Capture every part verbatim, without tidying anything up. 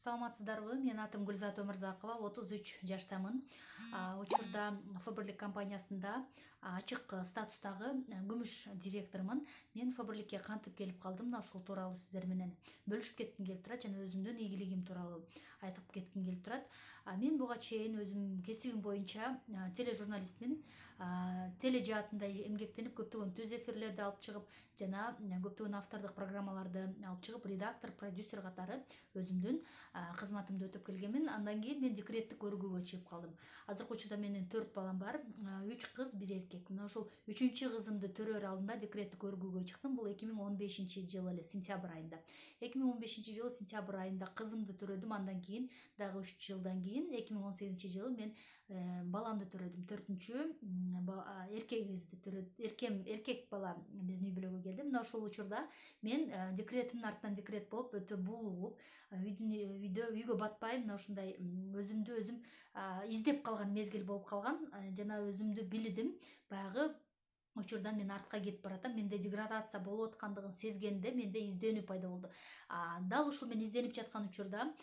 Саламатсыздарбы? Мен атым Гүлзат Өмүрзакова, отуз үч жаштамын. Учурда Фабрлик компаниясында ачык статустагы күмүш директормун. Мен Фабрликке кантип келип калдым, мына ушул тууралуу сиздер менен бөлүшүп кетким келип турат жана өзүмдүн ийгилигим тууралуу айтып кетким келип турат. Мен буга чейин өзүм кесибим боюнча тележурналистмин. Теле жаатында эмгектенип көптөгөн түз эфирлерди алып чыгып, жана көптөгөн автордук программаларды алып чыгып, редактор, продюсер катары өзүмдүн кызматымды өтөп келгенмин. Андан кийин мен декреттик өргүүгө чыгып калдым. Азыркы учурда менин төрт балам бар, үч кыз, бир эркек. Мына ушул үчүнчү кызымды төрөр алдында декреттик өргүүгө чыктым. Бул эки миң он бешинчи жылы эле сентябрь айында. эки миң он бешинчи жылы сентябрь айында кызымды төрөдүм. Андан кийин дагы үч жылдан кийин эки миң он сегизинчи жылы мен баламды төрөдүм. төртүнчү эркегибизди төрөдүм. Эркем эркек бала биздин үй бүлөгө келди. Мына ушул учурда мен декретимдин артынан декрет болуп өтө булугуп, үйдүн үйдө үйгө батпай мына ушундай өзүмдү өзүм издеп калган мезгил болуп калган. Жана өзүмдү билдим. Баягы учурдан мен артка кетип баратам. Менде деградация болуп аткандыгын сезгенде менде изденүү пайда болду. Дал ушул мен изденип жаткан учурда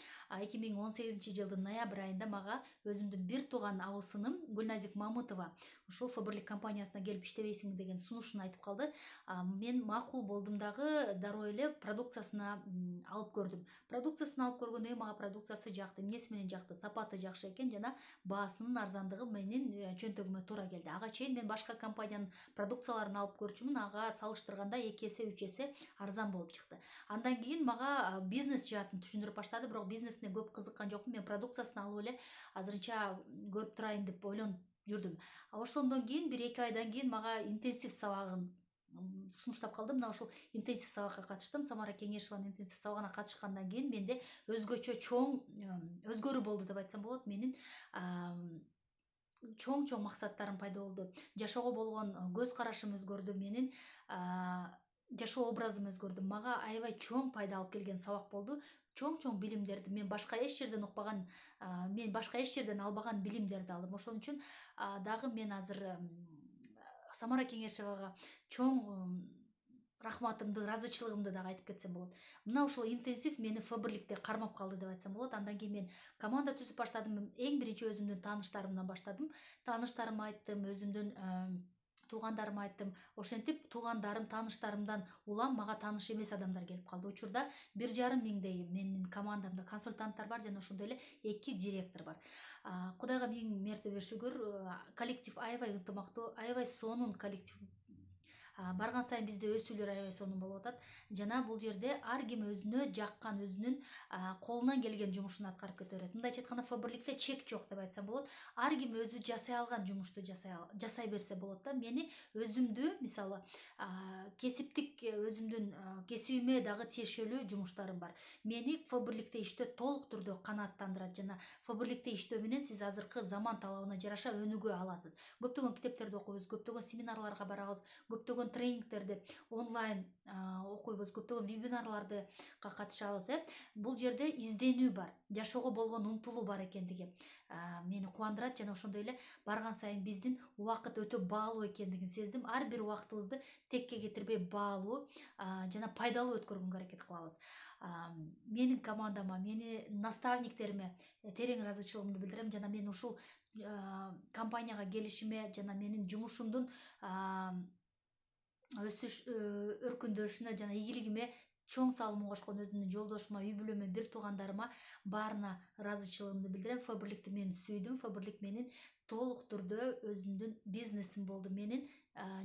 эки миң он сегизинчи жылдын ноябрь айында мага өзүмдүн бир тууган абысыным Гүлназик Мамытова ушул Фабрлик компаниясына келип иштебейсиңби деген сунушун айтып калды. Мен макул болдум дагы дароо эле продукциясына алып көрдүм. Продукциясын алып көргөндөн кийин мага продукциясы жакты. Эмнеси менен жакты? Сапаты жакшы экен жана баасынын арзандыгы менин чөнтөгүмө туура келди. Ага чейин мен башка компаниянын продукцияларын алып көрчүмүн. Ага салыштырганда эки эсе, үч эсе арзан болуп чыкты. Андан кийин мага бизнес жаатын түшүндүрүп баштады, бирок бизнесине көп кызыккан жокмун. Мен продукциясын алып эле азырынча көрүп турайын деп ойлонуп жүрдүм. Ошондон кийин бир эки айдан кийин мага интенсив сабагын сунуштап калды. Мына ушул интенсив сабакка катыштым. Самара Кеңешеванын интенсив сабагына катышкандан кийин менде өзгөчө чоң өзгөрүү болду деп айтсам болот. Менин чоң-чоң максаттарым пайда болду. Жашоого болгон көз карашым өзгөрдү. Менин жашоо образым өзгөрдү. Мага аябай чоң пайда алып келген сабак болду. Чоң-чоң билимдерди мен башка эч жерден укпаган, мен башка эч жерден албаган билимдерди алдым. Ошон үчүн дагы мен азыр Самара Кеңешевага чоң рахматымды, ыраазычылыгымды дагы айтып кетсем болот. Мына ушул интенсив мени Фабрликте кармап калды деп айтсам болот. Андан кийин мен команда түзүп баштадым. Эң биринчи өзүмдүн тааныштарымдан баштадым. Тааныштарыма айттым, өзүмдүн туугандарыма айттым. Ошентип туугандарым, тааныштарымдан улам мага тааныш эмес адамдар келип калды. Учурда бир жарым миңдей менин командамда консультанттар бар жана ошондой эле эки директор бар. Кудайга миң мертебе шүгүр, коллектив аябай ынтымактуу, аябай сонун коллектив. Барган сайын бизде өсүүлөр аябай сонун болуп атат. Жана бул жерде ар ким өзүнө жаккан, өзүнүн колунан келген жумушун аткарып кете берет. Мындайча айтканда Фабрликте чек жок деп айтсам болот. Ар ким өзү жасай алган жумушту жасай берсе болот да. Мени өзүмдү, мисалы, кесиптик өзүмдүн кесибиме дагы тиешелүү жумуштарым бар. Мени Фабрликте иштөө толук түрдө канааттандырат жана Фабрликте иштөө менен сиз азыркы заман талабына жараша өнүгө аласыз. Көптөгөн китептерди окуйбуз, көптөгөн семинарларга барабыз, көптөгөн тренингтерди онлайн окуйбуз, көптөгөн вебинарларды катышабыз. Бул жерде изденүү бар, жашоого болгон умтулуу бар экендиги мени кубандырат жана ошондой эле барган сайын биздин убакыт өтө баалуу экендигин сездим. Ар бир убактыбызды текке кетирбей баалуу жана пайдалуу өткөргөнгө аракет кылабыз. Менин командама, менин наставниктериме терең ыраазычылыгымды билдирем жана мен ушул компанияга келишиме жана менин жумушумдун өсүш өркүндөшүнө жана ийгилигиме чоң салымын кошкон өзүмдүн жолдошума, үй бүлөмө, бир туугандарыма баарына ыраазычылыгымды билдирем. Фабрликти мен сүйдүм. Фабрлик менин толук түрдө өзүмдүн бизнесим болду. Менин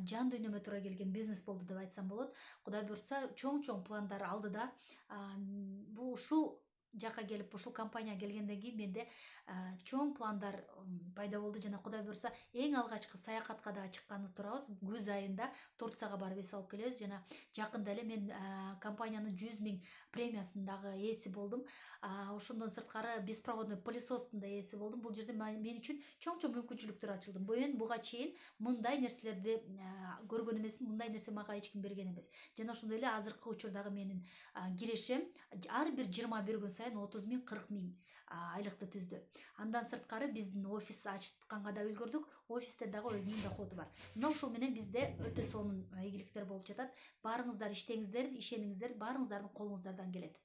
жан дүйнөмө туура келген бизнес болду деп айтсам болот. Кудай буйрса, чоң-чоң пландар алдыда. Бул ушул жака келип, ушул компанияга келгенден кийин менде чоң пландар пайда болду жана Кудай буйрса, эң алгачкы саякатка да чыкканы турабыз. Күз айында Турцияга барып эс алып келебиз жана жакында эле мен компаниянын жүз миң премиясынын дагы ээси болдум. Ошондон сырткары беспроводной пылесостун да ээси болдум. Бул жерде мен үчүн чоң-чоң мүмкүнчүлүктөр ачылды. Мен буга чейин мындай нерселерди көргөн эмесмин, мындай нерсе мага эч ким берген эмес. Жана ошондой эле азыркы учурдагы менин кирешем ар бир жыйырма бир күн сайын отуз миң, кырк миң айлыкты түздү. Андан сырткары биздин офис ачканга да үлгүрдүк. Офисте дагы өзүнүн доходу бар. Мына ушул менен бизде өтө сонун ийгиликтер болуп жатат. Баарыңыздар иштеңиздер, ишениңиздер, баарыңыздардын колуңуздардан келет.